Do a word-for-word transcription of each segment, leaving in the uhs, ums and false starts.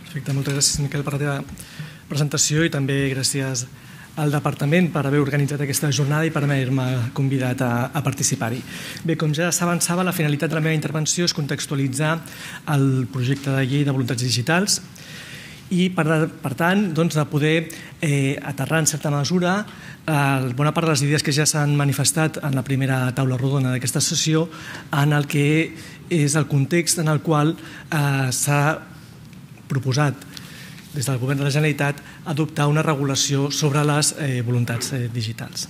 Perfecte, moltes gràcies, Miquel, per la teva presentació i també gràcies al Departament per haver organitzat aquesta jornada i per haver-me convidat a, a participar-hi. Bé, com ja s'avançava, la finalitat de la meva intervenció és contextualitzar el projecte de llei de voluntats digitals i, per, per tant, doncs, de poder eh, aterrar en certa mesura eh, bona part de les idees que ja s'han manifestat en la primera taula rodona d'aquesta sessió en el que és el context en el qual eh, s'ha proposat des del Govern de la Generalitat adoptar una regulació sobre les eh, voluntats eh, digitals.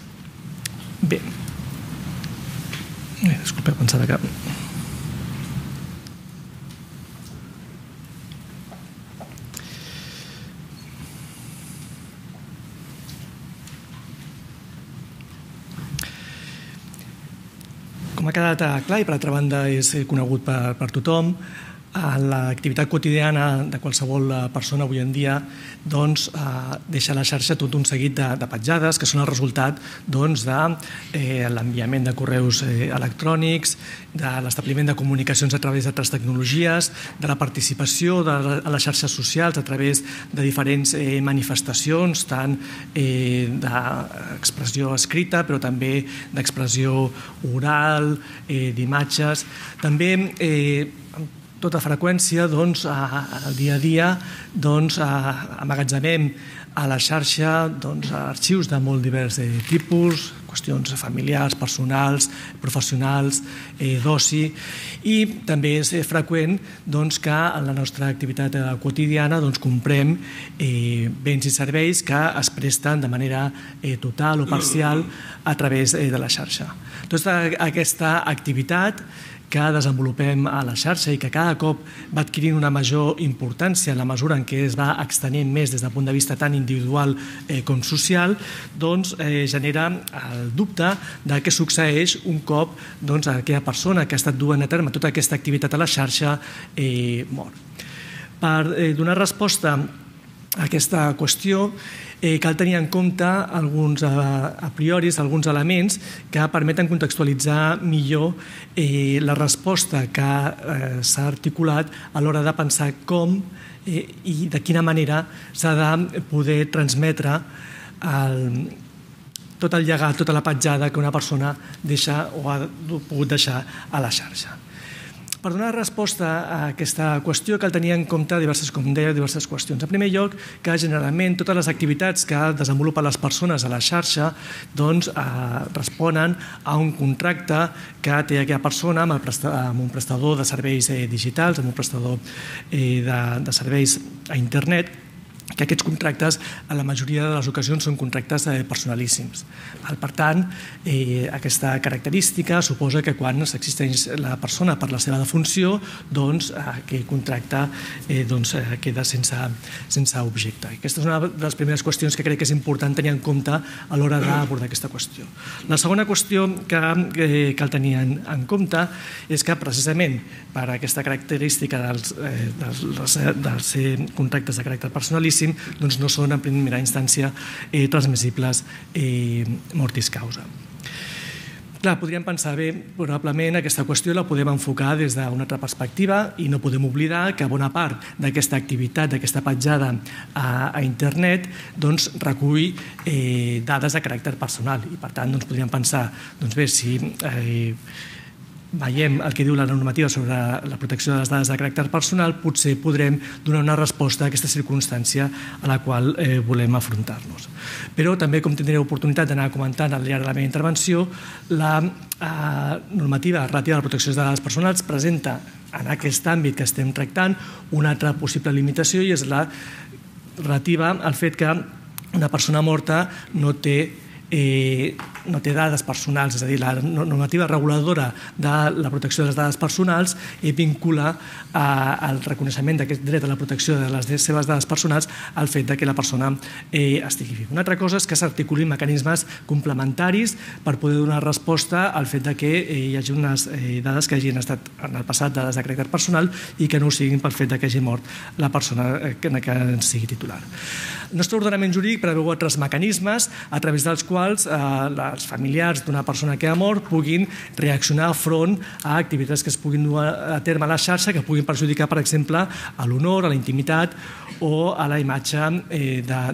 Bé, eh, disculpeu, pensava que... Com ha quedat clar i per altra banda és conegut per, per tothom, l'activitat quotidiana de qualsevol persona avui en dia doncs, eh, deixa a la xarxa tot un seguit de, de petjades que són el resultat doncs, de eh, l'enviament de correus eh, electrònics, de l'establiment de comunicacions a través d'altres tecnologies, de la participació de, a les xarxes socials a través de diferents eh, manifestacions, tant eh, d'expressió escrita però també d'expressió oral, eh, d'imatges. També eh, tota freqüència, doncs, al dia a dia, doncs, amagatzemem a la xarxa doncs, arxius de molt divers eh, tipus, qüestions familiars, personals, professionals, eh, d'oci, i també és freqüent doncs, que en la nostra activitat eh, quotidiana doncs, comprem eh, béns i serveis que es presten de manera eh, total o parcial a través eh, de la xarxa. Tota aquesta activitat que desenvolupem a la xarxa i que cada cop va adquirint una major importància en la mesura en què es va extenent més des del punt de vista tant individual eh, com social, doncs eh, genera el dubte de què succeeix un cop doncs, aquella persona que ha estat duent a terme tota aquesta activitat a la xarxa eh, mor. Per eh, donar resposta a aquesta qüestió, Eh, cal tenir en compte alguns a, a priori, alguns elements que permeten contextualitzar millor eh, la resposta que eh, s'ha articulat a l'hora de pensar com eh, i de quina manera s'ha de poder transmetre el, tot el llegat, tota la petjada que una persona deixa o ha pogut deixar a la xarxa. Per donar resposta a aquesta qüestió cal tenir en compte diverses, com deia, diverses qüestions. En primer lloc, que generalment totes les activitats que desenvolupen les persones a la xarxa doncs, eh, responen a un contracte que té aquella persona amb, el presta, amb un prestador de serveis eh, digitals, amb un prestador eh, de, de serveis a internet, que aquests contractes, en la majoria de les ocasions, són contractes personalíssims. Per tant, eh, aquesta característica suposa que quan s'existeix la persona per la seva defunció, doncs aquell contracte eh, doncs, queda sense, sense objecte. Aquesta és una de les primeres qüestions que crec que és important tenir en compte a l'hora d'abordar aquesta qüestió. La segona qüestió que eh, cal tenir en, en compte és que precisament per aquesta característica dels, eh, dels, dels contractes de caràcter personalíssim doncs no són en primera instància eh, transmissibles eh, mortis causa. Clar, podríem pensar, bé, probablement aquesta qüestió la podem enfocar des d'una altra perspectiva i no podem oblidar que bona part d'aquesta activitat, d'aquesta petjada a, a internet, doncs recull eh, dades de caràcter personal i per tant doncs, podríem pensar, doncs bé, si eh, veiem el que diu la normativa sobre la protecció de les dades de caràcter personal, potser podrem donar una resposta a aquesta circumstància a la qual eh, volem afrontar-nos. Però també, com tindré oportunitat d'anar comentant al llarg de la meva intervenció, la eh, normativa relativa a la protecció de les dades personals presenta en aquest àmbit que estem tractant una altra possible limitació i és la relativa al fet que una persona morta no té Eh, no té dades personals, és a dir, la normativa reguladora de la protecció de les dades personals eh, vincula eh, el reconeixement d'aquest dret a la protecció de les seves dades personals al fet que la persona eh, estigui viva. Una altra cosa és que s'articulin mecanismes complementaris per poder donar resposta al fet que eh, hi hagi unes eh, dades que hagin estat en el passat dades de caràcter personal i que no ho siguin pel fet que hagi mort la persona eh, que, que en sigui titular. El nostre ordenament jurídic preveu altres mecanismes a través dels quals eh, la, els familiars d'una persona que ha mort puguin reaccionar front a activitats que es puguin dur a terme a la xarxa que puguin perjudicar, per exemple, a l'honor, a la intimitat o a la imatge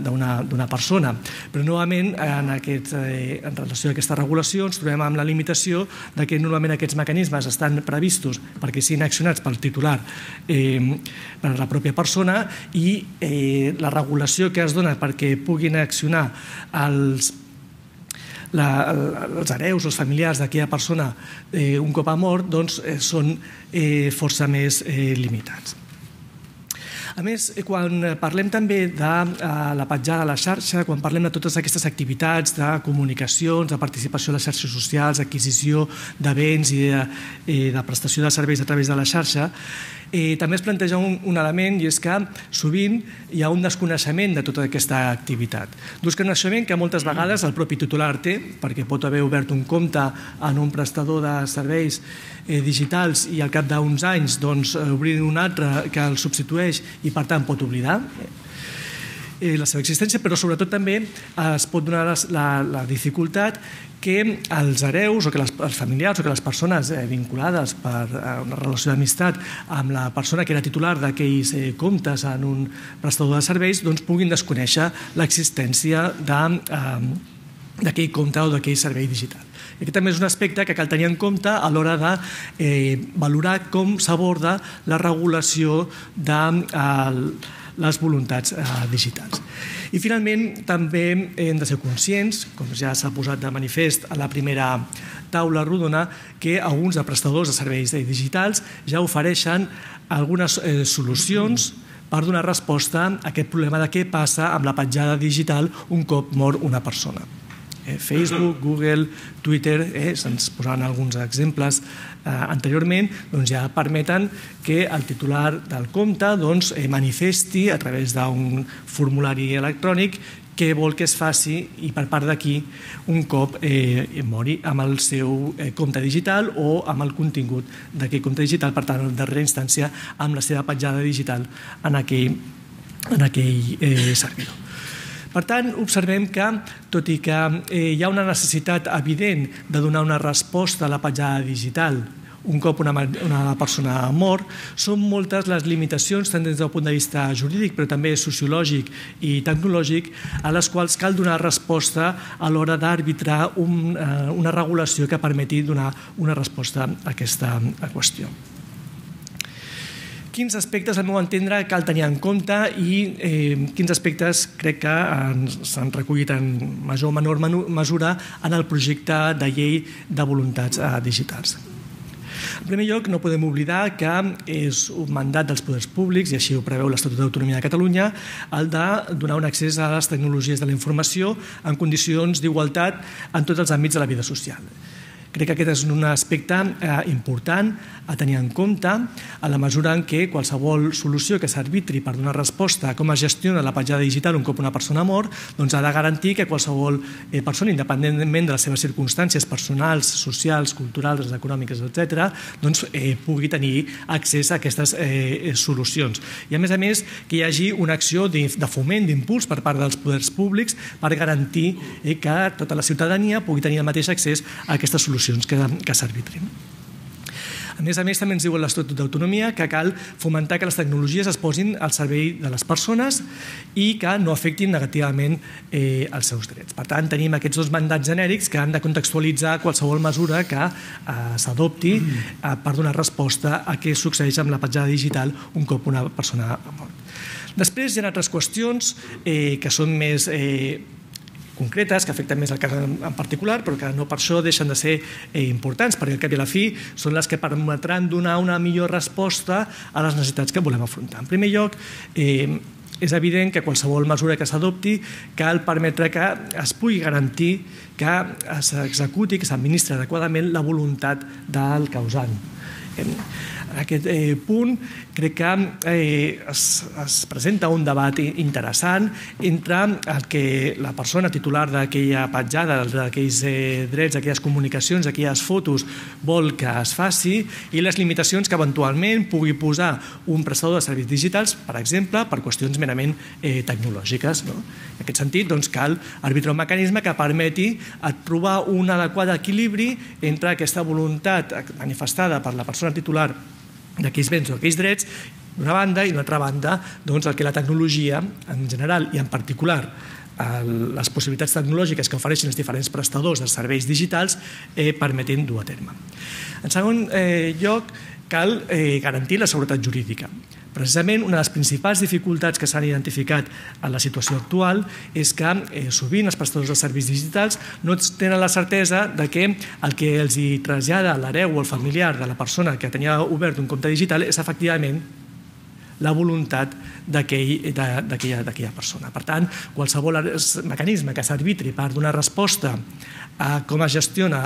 d'una persona. Però, novament, en relació a aquesta regulació, ens trobem amb la limitació que normalment aquests mecanismes estan previstos perquè siguin accionats pel titular per a la pròpia persona i la regulació que es dona perquè puguin accionar els els hereus, els familiars d'aquella persona un cop ha mort, doncs són força més limitats. A més, quan parlem també de la petjada a la xarxa, quan parlem de totes aquestes activitats de comunicacions, de participació a les xarxes socials, adquisició de béns i de prestació de serveis a través de la xarxa, també es planteja un element i és que sovint hi ha un desconeixement de tota aquesta activitat. Desconeixement que moltes vegades el propi titular té, perquè pot haver obert un compte en un prestador de serveis digitals i al cap d'uns anys obrir un altre que el substitueix i per tant pot oblidar la seva existència, però sobretot també es pot donar la dificultat que els hereus o que els familiars o que les persones vinculades per una relació d'amistat amb la persona que era titular d'aquells comptes en un prestador de serveis puguin desconèixer l'existència d'aquell compte o d'aquell servei digital. Aquest també és un aspecte que cal tenir en compte a l'hora de valorar com s'aborda la regulació de les voluntats digitals. I finalment també hem de ser conscients, com ja s'ha posat de manifest a la primera taula rodona, que alguns de prestadors de serveis digitals ja ofereixen algunes solucions per donar resposta a aquest problema de què passa amb la petjada digital un cop mor una persona. Facebook, Google, Twitter, se'ns posaven alguns exemples anteriorment, ja permeten que el titular del compte manifesti a través d'un formulari electrònic què vol que es faci i per part d'aquí un cop mori amb el seu compte digital o amb el contingut d'aquell compte digital, per tant, en darrera instància, amb la seva petjada digital en aquell servidor. Per tant, observem que, tot i que hi ha una necessitat evident de donar una resposta a la petjada digital un cop una persona mor, són moltes les limitacions, tant des del punt de vista jurídic, però també sociològic i tecnològic, a les quals cal donar resposta a l'hora d'arbitrar una regulació que permeti donar una resposta a aquesta qüestió. Quins aspectes, al meu entendre, cal tenir en compte i quins aspectes crec que s'han recollit en major o menor mesura en el projecte de llei de voluntats digitals. En primer lloc, no podem oblidar que és un mandat dels poders públics, i així ho preveu l'Estatut d'Autonomia de Catalunya, el de donar un accés a les tecnologies de la informació en condicions d'igualtat en tots els àmbits de la vida social. Crec que aquest és un aspecte important a tenir en compte a la mesura en què qualsevol solució que s'arbitri per donar resposta a com es gestiona la petjada digital un cop una persona mor ha de garantir que qualsevol persona, independentment de les seves circumstàncies personals, socials, culturals, econòmiques, etcètera, pugui tenir accés a aquestes solucions. I a més a més que hi hagi una acció de foment, d'impuls per part dels poders públics per garantir que tota la ciutadania pugui tenir el mateix accés a aquestes solucions que s'arbitrin. A més a més, també ens diu l'Estatut d'Autonomia que cal fomentar que les tecnologies es posin al servei de les persones i que no afectin negativament els seus drets. Per tant, tenim aquests dos mandats genèrics que han de contextualitzar qualsevol mesura que s'adopti per donar resposta a què succeeix amb la petjada digital un cop una persona ha mort. Després hi ha altres qüestions que són més concretes, que afecten més el cas en particular, però que no per això deixen de ser importants, perquè al cap i a la fi són les que permetran donar una millor resposta a les necessitats que volem afrontar. En primer lloc, és evident que qualsevol mesura que s'adopti cal permetre que es pugui garantir que s'executi, que s'administri adequadament la voluntat del causant. En aquest punt crec que es presenta un debat interessant entre el que la persona titular d'aquella petjada, d'aquells drets, d'aquelles comunicacions, d'aquelles fotos, vol que es faci i les limitacions que eventualment pugui posar un prestador de serveis digitals, per exemple, per qüestions merament tecnològiques. En aquest sentit, cal arbitrar un mecanisme que permeti trobar un adequat equilibri entre aquesta voluntat manifestada per la persona titular d'aquells béns o d'aquells drets, d'una banda, i d'una altra banda, el que la tecnologia, en general i en particular, les possibilitats tecnològiques que ofereixen els diferents prestadors de serveis digitals permeten dur a terme. En segon lloc, cal garantir la seguretat jurídica. Precisament, una de les principals dificultats que s'han identificat en la situació actual és que sovint els prestadors de serveis digitals no tenen la certesa de que el que els trasllada l'hereu o el familiar de la persona que tenia obert un compte digital és efectivament la voluntat d'aquella persona. Per tant, qualsevol mecanisme que s'arbitri per donar resposta a com es gestiona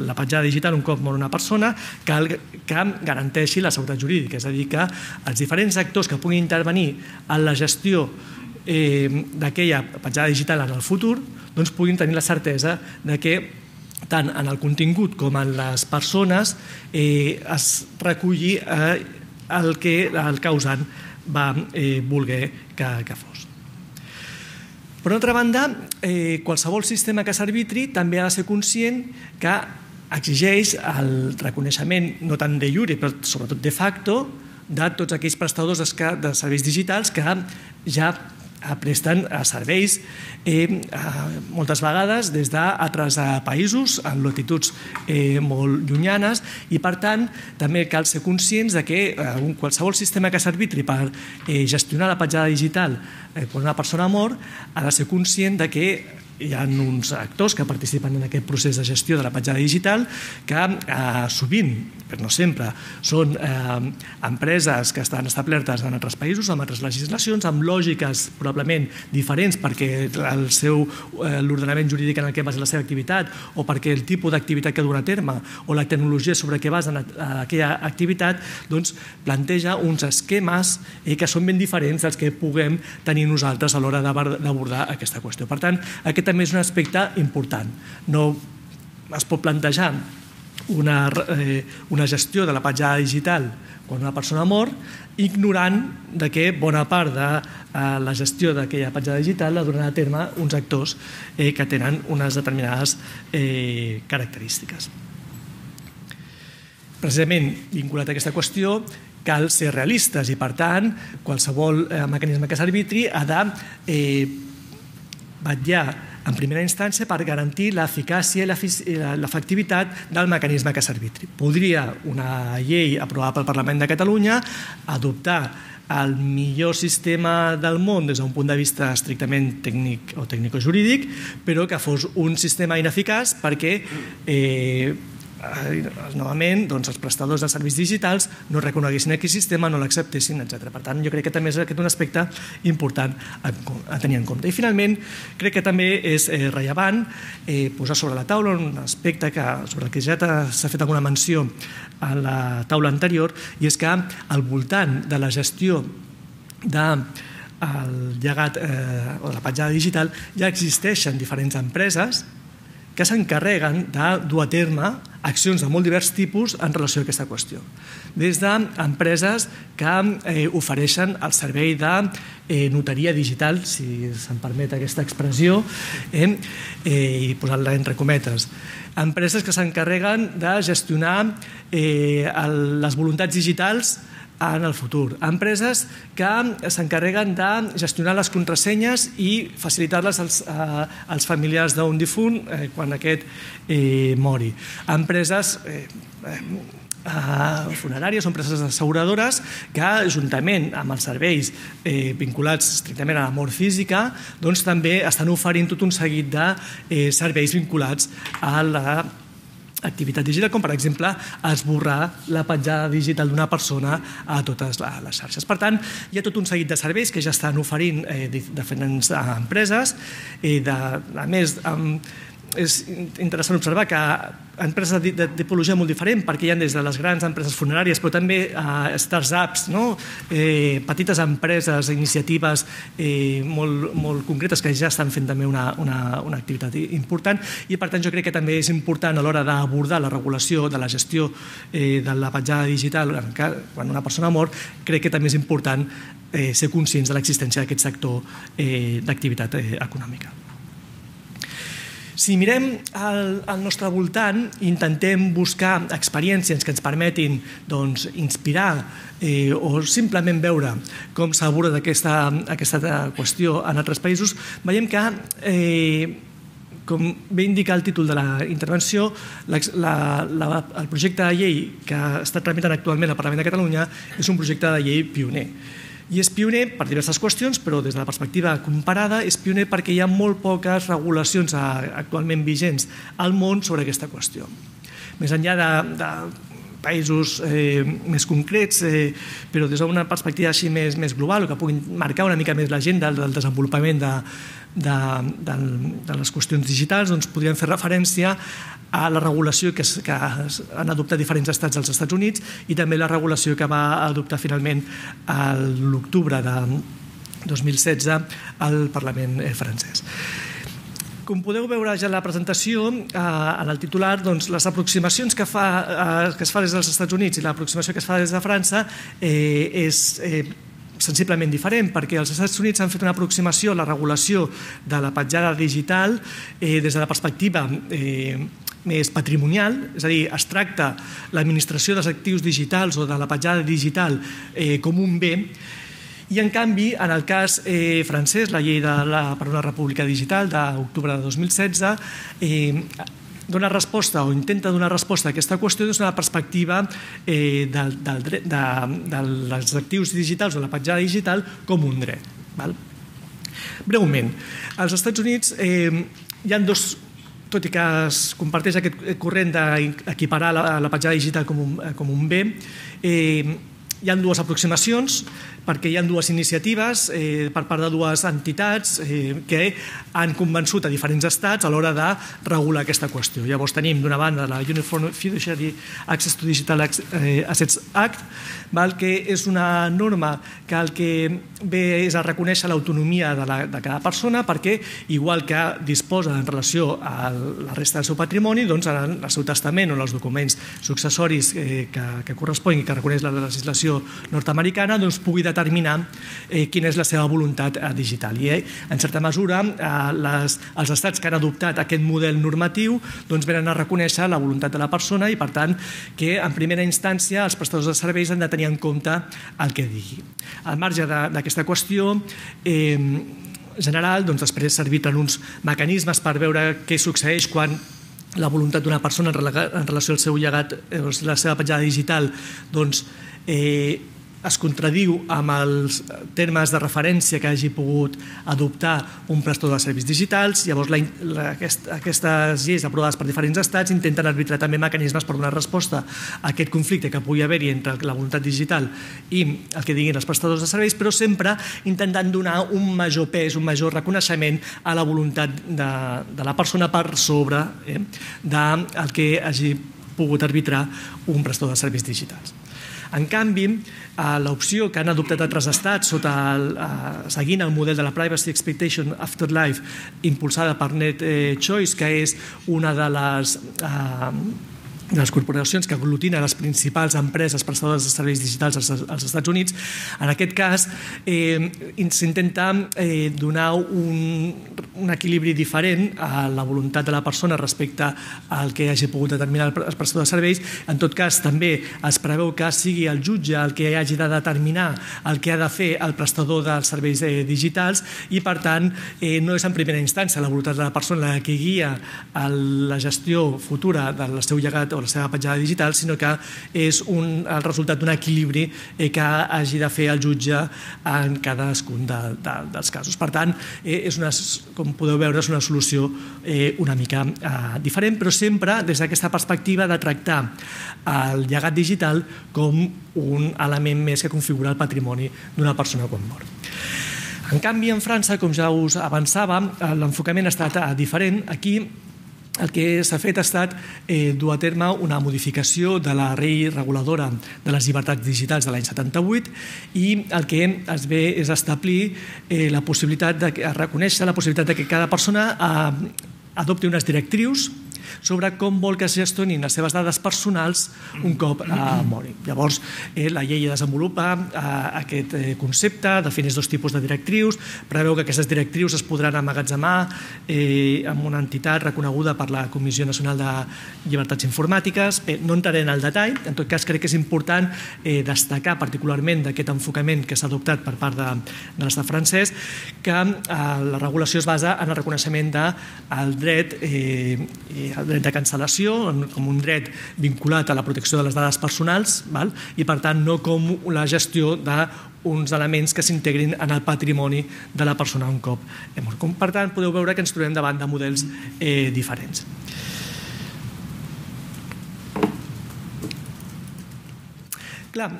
la petjada digital un cop mor una persona cal que garanteixi la seguretat jurídica, és a dir, que els diferents actors que puguin intervenir en la gestió d'aquella petjada digital en el futur puguin tenir la certesa que tant en el contingut com en les persones es reculli el que el causant va voler que fos. Per una altra banda, qualsevol sistema que s'arbitri també ha de ser conscient que exigeix el reconeixement no tant de iure, però sobretot de facto, de tots aquells prestadors de serveis digitals que ja presten serveis moltes vegades des d'altres països en latituds molt llunyanes i per tant també cal ser conscients que qualsevol sistema que s'arbitri per gestionar la petjada digital quan una persona mor ha de ser conscient que hi ha uns actors que participen en aquest procés de gestió de la petjada digital que sovint, però no sempre, són empreses que estan establertes en altres països, amb altres legislacions, amb lògiques probablement diferents perquè l'ordenament jurídic en el que basa la seva activitat o perquè el tipus d'activitat que duen a terme o la tecnologia sobre què basen aquella activitat planteja uns esquemes que són ben diferents dels que puguem tenir nosaltres a l'hora d'abordar aquesta qüestió. Per tant, aquest també és un aspecte important. No es pot plantejar una gestió de la petjada digital quan una persona mor ignorant que bona part de la gestió d'aquella petjada digital la duran a terme uns actors que tenen unes determinades característiques. Precisament vinculat a aquesta qüestió cal ser realistes i per tant qualsevol mecanisme que s'arbitri ha de vetllar en primera instància per garantir l'eficàcia i l'efectivitat del mecanisme que s'arbitri. Podria una llei aprovada pel Parlament de Catalunya adoptar el millor sistema del món des d'un punt de vista estrictament tècnic o tècnico-jurídic, però que fos un sistema ineficaç perquè novament els prestadors de serveis digitals no reconeguessin aquest sistema, no l'acceptessin, etcètera. Per tant, jo crec que també és un aspecte important a tenir en compte. I finalment, crec que també és rellevant posar sobre la taula un aspecte sobre el que ja s'ha fet alguna menció a la taula anterior, i és que al voltant de la gestió del llegat o de la petjada digital ja existeixen diferents empreses que s'encarreguen de dur a terme accions de molt divers tipus en relació a aquesta qüestió. Des d'empreses que ofereixen el servei de notaria digital, si se'm permet aquesta expressió, i posant-la entre cometes, empreses que s'encarreguen de gestionar les voluntats digitals en el futur. Empreses que s'encarreguen de gestionar les contrasenyes i facilitar-les als familiars d'un difunt quan aquest mori. Empreses funeràries o empreses asseguradores que, juntament amb els serveis vinculats estrictament a la mort física, també estan oferint tot un seguit de serveis vinculats a la activitat digital, com per exemple esborrar la petjada digital d'una persona a totes les xarxes. Per tant, hi ha tot un seguit de serveis que ja estan oferint diferents empreses, a més amb és interessant observar que empreses de tipologia molt diferent, perquè hi ha des de les grans empreses funeràries, però també startups, petites empreses, iniciatives molt concretes que ja estan fent també una activitat important, i per tant jo crec que també és important a l'hora d'abordar la regulació de la gestió de la petjada digital quan una persona mor, crec que també és important ser conscients de l'existència d'aquest sector d'activitat econòmica. Si mirem al nostre voltant i intentem buscar experiències que ens permetin inspirar o simplement veure com s'aborda aquesta qüestió en altres països, veiem que, com bé indica el títol de la intervenció, el projecte de llei que està tramitant actualment al Parlament de Catalunya és un projecte de llei pioner. I és pioner per diverses qüestions, però des de la perspectiva comparada és pioner perquè hi ha molt poques regulacions actualment vigents al món sobre aquesta qüestió. Més enllà de països més concrets, però des d'una perspectiva així més global, o que puguin marcar una mica més l'agenda del desenvolupament de les qüestions digitals, doncs podríem fer referència a la regulació que han adoptat diferents estats als Estats Units i també la regulació que va adoptar finalment l'octubre de dos mil setze al Parlament francès. Com podeu veure ja en la presentació, en el titular, les aproximacions que es fa des dels Estats Units i l'aproximació que es fa des de França és sensiblement diferent, perquè els Estats Units han fet una aproximació a la regulació de la petjada digital des de la perspectiva més patrimonial, és a dir, es tracta l'administració dels actius digitals o de la petjada digital com un bé, i en canvi, en el cas francès, la llei per una república digital d'octubre de dos mil setze, dona resposta o intenta donar resposta a aquesta qüestió des d'una perspectiva dels actius digitals o la petjada digital com un dret. Breument, als Estats Units hi ha dos, tot i que es comparteix aquest corrent d'equiparar la petjada digital com un bé, hi ha dues aproximacions, perquè hi ha dues iniciatives per part de dues entitats que han convençut a diferents estats a l'hora de regular aquesta qüestió. Llavors tenim d'una banda la Uniform Fiduciary Access to Digital Assets Act, que és una norma que el que ve és a reconèixer l'autonomia de cada persona perquè, igual que disposa en relació a la resta del seu patrimoni, doncs en el seu testament o en els documents successoris que corresponguin i que reconeix la legislació nord-americana, doncs pugui determinar quina és la seva voluntat digital. I, en certa mesura, els estats que han adoptat aquest model normatiu venen a reconèixer la voluntat de la persona i, per tant, que en primera instància els prestadors de serveis han de tenir en compte el que digui. Al marge d'aquesta qüestió general, després serviran uns mecanismes per veure què succeeix quan la voluntat d'una persona en relació al seu llegat, la seva petjada digital, doncs es contradiu amb els termes de referència que hagi pogut adoptar un prestador de serveis digitals. Llavors, aquestes lleis aprovades per diferents estats intenten arbitrar també mecanismes per donar resposta a aquest conflicte que pugui haver-hi entre la voluntat digital i el que diguin els prestadors de serveis, però sempre intentant donar un major pes, un major reconeixement a la voluntat de la persona per sobre del que hagi pogut arbitrar un prestador de serveis digitals. En canvi, l'opció que han adoptat altres estats seguint el model de la Privacy Expectation Afterlife impulsada per NetChoice, que és una de les de les corporacions que aglutina les principals empreses prestadores de serveis digitals als Estats Units, en aquest cas s'intenta donar un equilibri diferent a la voluntat de la persona respecte al que hagi pogut determinar el prestador de serveis. En tot cas, també es preveu que sigui el jutge el que hagi de determinar el que ha de fer el prestador dels serveis digitals i, per tant, no és en primera instància la voluntat de la persona la que guia la gestió futura del seu llegat o la seva petjada digital, sinó que és el resultat d'un equilibri que hagi de fer el jutge en cadascun dels casos. Per tant, com podeu veure, és una solució una mica diferent, però sempre des d'aquesta perspectiva de tractar el llegat digital com un element més que configura el patrimoni d'una persona quan mor. En canvi, en França, com ja us avançava, l'enfocament ha estat diferent. Aquí el que s'ha fet ha estat dur a terme una modificació de la llei reguladora de les llibertats digitals de l'any setanta-vuit i el que es ve és establir la possibilitat de reconèixer la possibilitat que cada persona adopti unes directrius sobre com vol que es gestionin les seves dades personals un cop mori. Llavors, la llei desenvolupa aquest concepte, defineix dos tipus de directrius, preveu que aquestes directrius es podran emmagatzemar amb una entitat reconeguda per la Comissió Nacional de Llibertats Informàtiques. No entraré en el detall, en tot cas crec que és important destacar particularment d'aquest enfocament que s'ha adoptat per part de l'estat francès que la regulació es basa en el reconeixement del dret el dret de cancel·lació com un dret vinculat a la protecció de les dades personals i per tant no com la gestió d'uns elements que s'integrin en el patrimoni de la persona un cop mort. Per tant, podeu veure que ens trobem davant de models diferents. Clar,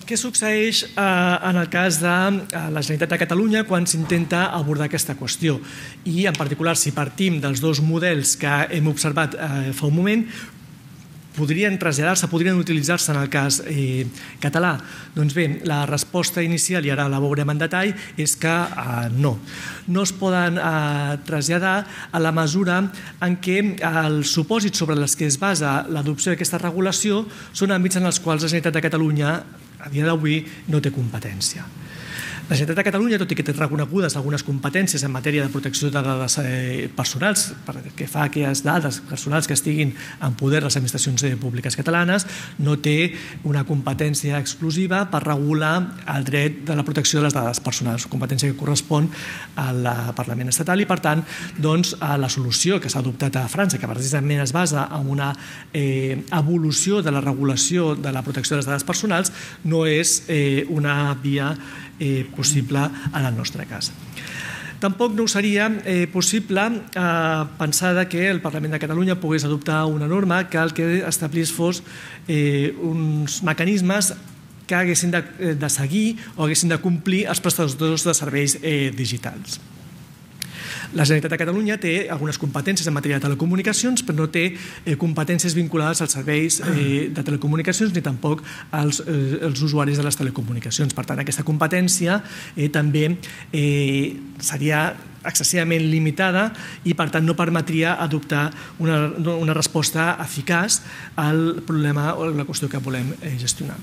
què succeeix en el cas de la Generalitat de Catalunya quan s'intenta abordar aquesta qüestió? I en particular, si partim dels dos models que hem observat fa un moment, podrien traslladar-se, podrien utilitzar-se en el cas català? Doncs bé, la resposta inicial, i ara la veurem en detall, és que no. No es poden traslladar a la mesura en què els supòsits sobre els que es basa l'adopció d'aquesta regulació són àmbits en els quals la Generalitat de Catalunya a dia d'avui no té competència. La Generalitat de Catalunya, tot i que té reconegudes algunes competències en matèria de protecció de dades personals, que fa aquelles dades personals que estiguin en poder de les administracions públiques catalanes, no té una competència exclusiva per regular el dret de la protecció de les dades personals, competència que correspon al Parlament estatal i, per tant, la solució que s'ha adoptat a França, que precisament es basa en una evolució de la regulació de la protecció de les dades personals, no és una via possible en el nostre cas. Tampoc no seria possible pensar que el Parlament de Catalunya pogués adoptar una norma que el que establís fos uns mecanismes que haguessin de seguir o haguessin de complir els prestadors de serveis digitals. La Generalitat de Catalunya té algunes competències en matèria de telecomunicacions, però no té competències vinculades als serveis de telecomunicacions ni tampoc als usuaris de les telecomunicacions. Per tant, aquesta competència també seria excessivament limitada i, per tant, no permetria adoptar una resposta eficaç al problema o la qüestió que volem gestionar.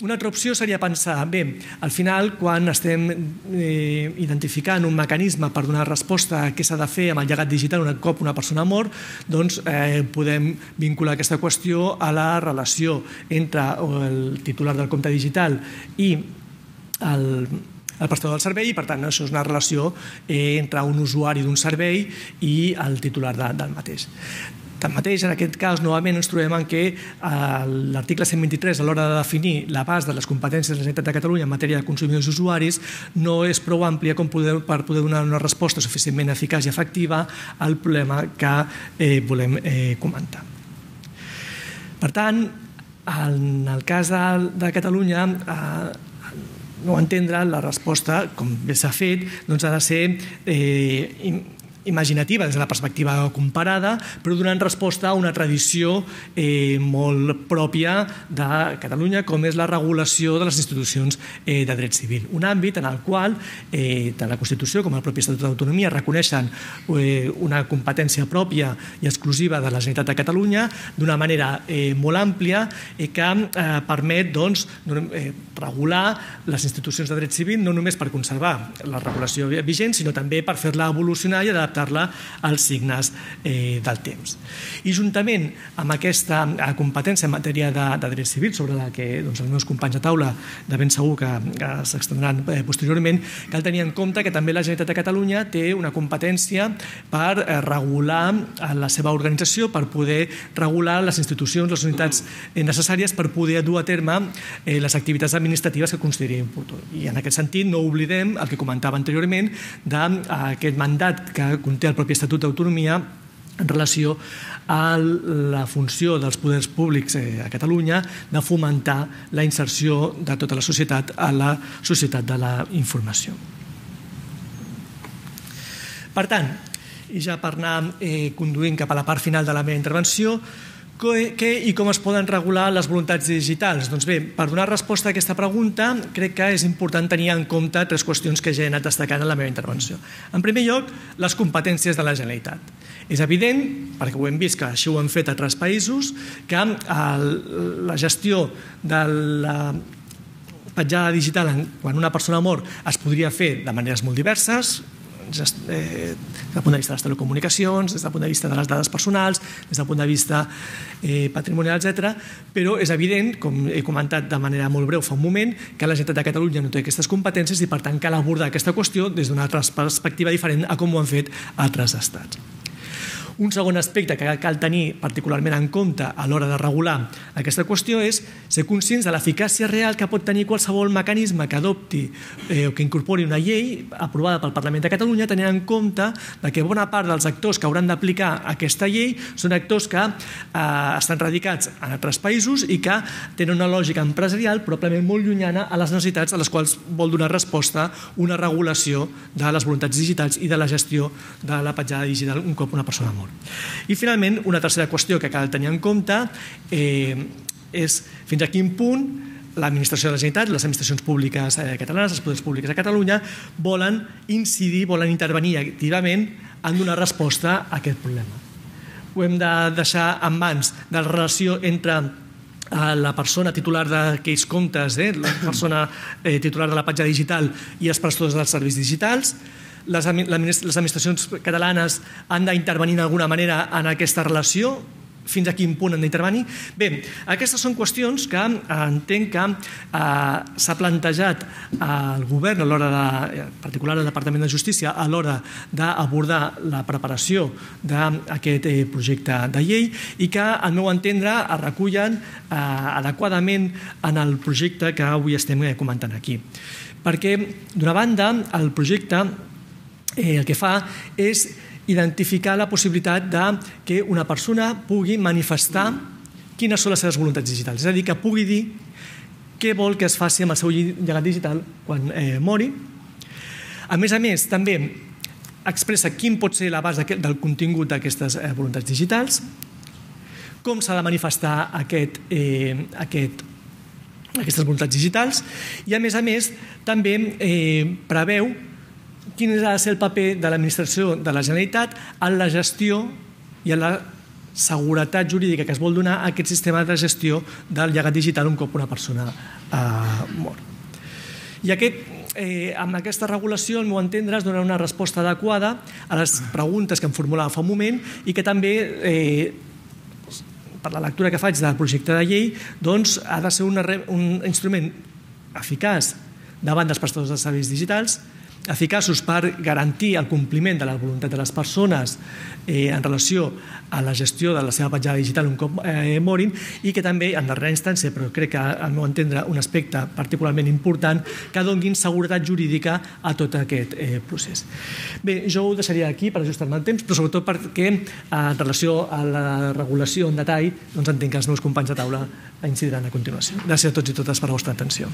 Una altra opció seria pensar, bé, al final, quan estem identificant un mecanisme per donar resposta a què s'ha de fer amb el llegat digital un cop una persona mor, doncs podem vincular aquesta qüestió a la relació entre el titular del compte digital i el el prestador del servei i, per tant, això és una relació entre un usuari d'un servei i el titular del mateix. Tanmateix, en aquest cas, novament ens trobem en què l'article cent vint-i-tres, a l'hora de definir l'abast de les competències de la Generalitat de Catalunya en matèria de consumidors i usuaris, no és prou àmplia per poder donar una resposta suficientment eficaç i efectiva al problema que volem comentar. Per tant, en el cas de Catalunya, no entendre la resposta, com bé s'ha fet, ha de ser imaginativa des de la perspectiva comparada, però donant resposta a una tradició molt pròpia de Catalunya, com és la regulació de les institucions de dret civil. Un àmbit en el qual tant la Constitució com el propi Estatut d'autonomia reconeixen una competència pròpia i exclusiva de la Generalitat de Catalunya d'una manera molt àmplia que permet regular les institucions de dret civil no només per conservar la regulació vigent, sinó també per fer-la evolucionar i adaptar adaptar-la als signes del temps. I juntament amb aquesta competència en matèria de dret civil, sobre la que els meus companys de taula de ben segur que s'extendran posteriorment, cal tenir en compte que també la Generalitat de Catalunya té una competència per regular la seva organització, per poder regular les institucions, les unitats necessàries per poder dur a terme les activitats administratives que consideri oportú. I en aquest sentit no oblidem el que comentava anteriorment d'aquest mandat que conté el propi Estatut d'Autonomia en relació a la funció dels poders públics a Catalunya de fomentar la inserció de tota la societat a la societat de la informació. Per tant, I ja per anar conduint cap a la part final de la meva intervenció, què i com es poden regular les voluntats digitals? Doncs bé, per donar resposta a aquesta pregunta, crec que és important tenir en compte tres qüestions que ja he anat destacant en la meva intervenció. En primer lloc, les competències de la Generalitat. És evident, perquè ho hem vist que així ho han fet a altres països, que la gestió de la petjada digital quan una persona mor es podria fer de maneres molt diverses, des del punt de vista de les telecomunicacions, des del punt de vista de les dades personals, des del punt de vista patrimonial, etcètera, però és evident, com he comentat de manera molt breu fa un moment, que la Generalitat de Catalunya no té aquestes competències i per tant cal abordar aquesta qüestió des d'una altra perspectiva diferent a com ho han fet altres estats. Un segon aspecte que cal tenir particularment en compte a l'hora de regular aquesta qüestió és ser conscients de l'eficàcia real que pot tenir qualsevol mecanisme que adopti o que incorpori una llei aprovada pel Parlament de Catalunya, tenint en compte que bona part dels actors que hauran d'aplicar aquesta llei són actors que estan radicats en altres països i que tenen una lògica empresarial probablement molt llunyana a les necessitats a les quals vol donar resposta una regulació de les voluntats digitals i de la gestió de la petjada digital un cop una persona mor. I finalment, una tercera qüestió que cal tenir en compte és fins a quin punt l'administració de la Generalitat, les administracions públiques catalanes, els poders públics de Catalunya volen incidir, volen intervenir activament en donar resposta a aquest problema. Ho hem de deixar en mans de la relació entre la persona titular d'aquells comptes, la persona titular de la petjada digital i els prestadors dels serveis digitals. Les administracions catalanes han d'intervenir d'alguna manera en aquesta relació? Fins a quin punt han d'intervenir? Bé, aquestes són qüestions que entenc que s'ha plantejat el govern, en particular el Departament de Justícia, a l'hora d'abordar la preparació d'aquest projecte de llei i que, al meu entendre, es recullen adequadament en el projecte que avui estem comentant aquí. Perquè, d'una banda, el projecte el que fa és identificar la possibilitat que una persona pugui manifestar quines són les seves voluntats digitals. És a dir, que pugui dir què vol que es faci amb el seu llegat digital quan mori. A més a més, també expressa quin pot ser l'abast del contingut d'aquestes voluntats digitals, com s'ha de manifestar aquestes voluntats digitals i, a més a més, també preveu quin ha de ser el paper de l'administració de la Generalitat en la gestió i en la seguretat jurídica que es vol donar a aquest sistema de gestió del llegat digital un cop una persona mor. I amb aquesta regulació, al meu entendre, es donarà una resposta adequada a les preguntes que em formulava fa un moment i que també, per la lectura que faig del projecte de llei, ha de ser un instrument eficaç davant dels prestadors de serveis digitals, eficaços per garantir el compliment de la voluntat de les persones en relació a la gestió de la seva petjada digital un cop morin i que també, en darrera instància, però crec que al meu entendre un aspecte particularment important, que donin seguretat jurídica a tot aquest procés. Bé, jo ho deixaria aquí per ajustar-me el temps, però sobretot perquè en relació a la regulació en detall entenc que els meus companys de taula incidiran a continuació. Gràcies a tots i totes per la vostra atenció.